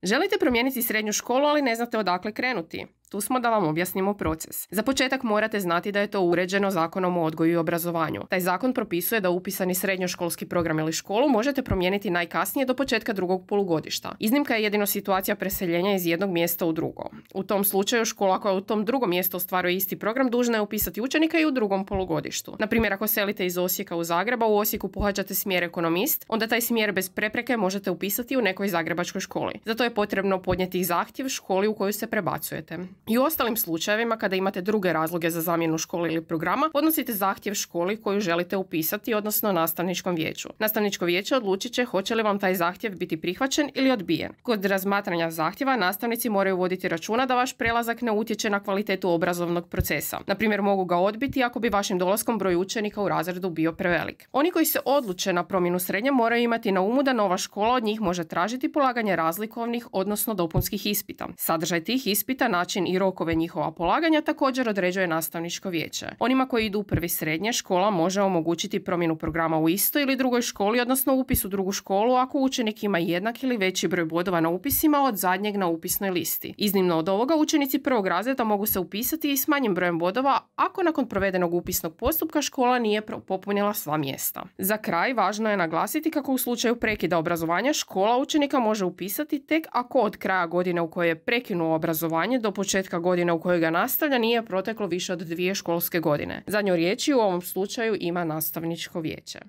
Želite promijeniti srednju školu, ali ne znate odakle krenuti? Tu smo da vam objasnimo proces. Za početak morate znati da je to uređeno Zakonom o odgoju i obrazovanju. Taj zakon propisuje da upisani srednjoškolski program ili školu možete promijeniti najkasnije do početka drugog polugodišta. Iznimka je jedino situacija preseljenja iz jednog mjesta u drugo. U tom slučaju škola koja u tom drugom mjestu ostvaruje isti program dužna je upisati učenika i u drugom polugodištu. Na primjer, ako selite iz Osijeka u Zagreb, a u Osijeku pohađate smjer ekonomist, onda taj smjer bez prepreke možete upisati u nekoj zagrebačkoj školi. Zato je potrebno podnijeti zahtjev školi u koju se prebacujete. I u ostalim slučajevima, kada imate druge razloge za zamjenu škole ili programa, podnosite zahtjev školi koju želite upisati, odnosno nastavničkom vijeću. Nastavničko vijeće odlučit će hoće li vam taj zahtjev biti prihvaćen ili odbijen. Kod razmatranja zahtjeva nastavnici moraju voditi računa da vaš prelazak ne utječe na kvalitetu obrazovnog procesa. Na primjer, mogu ga odbiti ako bi vašim dolaskom broj učenika u razredu bio prevelik. Oni koji se odluče na promjenu srednje moraju imati na umu da nova škola od njih može tražiti polaganje razlikovnih, odnosno dopunskih ispita. Sadržaj tih ispita, način i rokove njihova polaganja također određuje nastavničko vijeće. Onima koji idu u prvi srednje, škola može omogućiti promjenu programa u istoj ili drugoj školi, odnosno upis u drugu školu ako učenik ima jednak ili veći broj bodova na upisima od zadnjeg na upisnoj listi. Iznimno od ovoga, učenici prvog razreda mogu se upisati i s manjim brojem bodova ako nakon provedenog upisnog postupka škola nije popunila sva mjesta. Za kraj, važno je naglasiti kako u slučaju prekida obrazovanja škola učenika može upisati tek ako od kraja godine u kojoj je prekinuo obrazovanje do početka godine u kojoj ga nastavlja nije proteklo više od 2 školske godine. Zadnju riječ u ovom slučaju ima nastavničko vijeće.